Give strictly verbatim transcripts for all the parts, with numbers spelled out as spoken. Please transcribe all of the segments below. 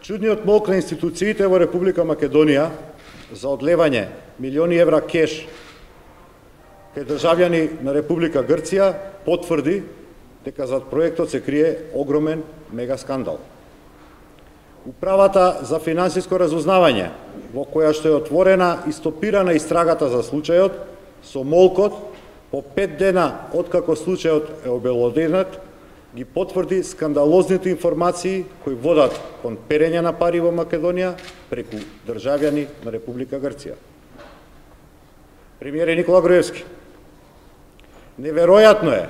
Чудниот молк на институциите во Република Македонија за одлевање милиони евра кеш кај државјани на Република Грција потврди дека зад проектот се крие огромен мега скандал. Управата за финансиско разузнавање, во која што е отворена и стопирана истрагата за случајот, со молкот по пет дена откако случајот е обелоденет, ги потврди скандалозните информации кои водат кон перење на пари во Македонија преку државјани на Република Грција. Премиер Никола Груевски. Неверојатно е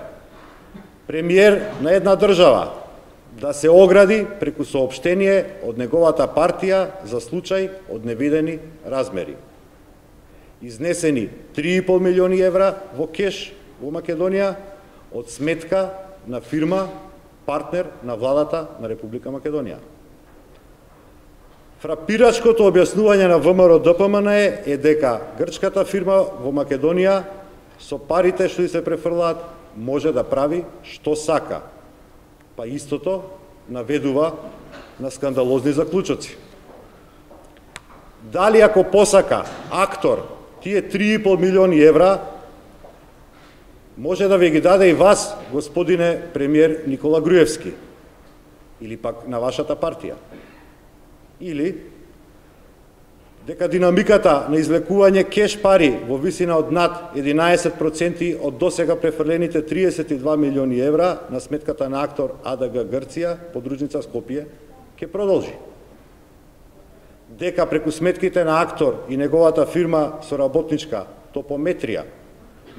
премиер на една држава да се огради преку соопштение од неговата партија за случај од невидени размери. Изнесени три и пол милиони евра во кеш во Македонија од сметка на фирма партнер на владата на Република Македонија. Фрапирачкото објаснување на ВМРО-ДПМН е дека грчката фирма во Македонија со парите што се префрлаат може да прави што сака, па истото наведува на скандалозни заклучоци. Дали ако посака актор тие три и пол милиони евра, може да ви ги даде и вас, господине премиер Никола Груевски, или пак на вашата партија. Или дека динамиката на излекување кеш пари во висина од над единаесет проценти од досега префрлените триесет и два милиони евра на сметката на актор АДГ Грција, подружница Скопје, ќе продолжи. Дека преку сметките на актор и неговата фирма соработничка Топометрија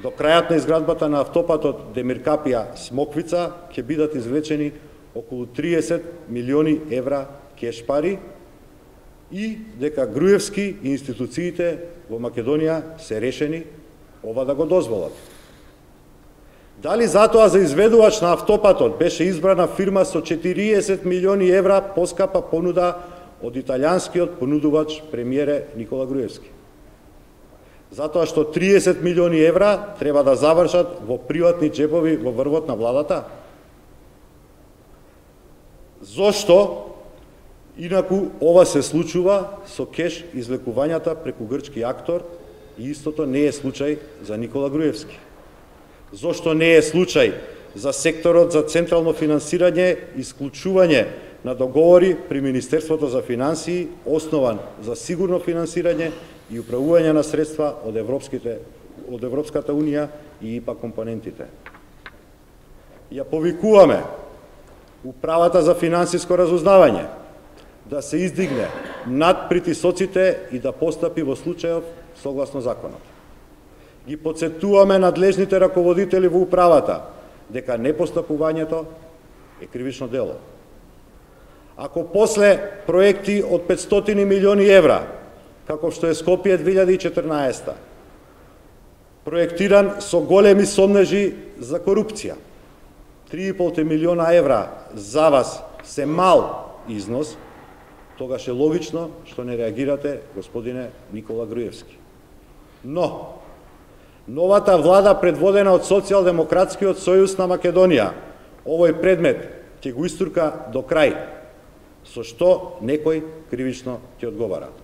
до крајот на изградбата на автопатот Демиркапија Смоквица ќе бидат извлечени околу триесет милиони евра кеш пари и дека Груевски и институциите во Македонија се решени ова да го дозволат. Дали затоа за изведувач на автопатот беше избрана фирма со четириесет милиони евра поскапа понуда од италијанскиот понудувач премиере Никола Груевски? Затоа што триесет милиони евра треба да завршат во приватни джебови во врвот на владата? Зошто инаку ова се случува со кеш излекувањата преку грчки актор и истото не е случај за Никола Груевски? Зошто не е случај за секторот за централно финансирање и исклучување на договори при Министерството за финансии, основан за сигурно финансирање и управување на средства од европските од Европската унија и ИПА компонентите? Ја повикуваме Управата за финансиско разузнавање да се издигне над притисоците и да постапи во случајов согласно законот. Ги потсетуваме надлежните раководители во управата дека непостапувањето е кривично дело. Ако после проекти од петстотини милиони евра, како што е Скопје две илјади и четрнаесета, проектиран со големи сомнежи за корупција, три и пол милиона евра за вас се мал износ, тогаш е логично што не реагирате, господине Никола Груевски. Но, новата влада предводена од Социјалдемократскиот сојуз на Македонија, овој предмет ќе го истурка до крај, со што некој кривично ќе одговара.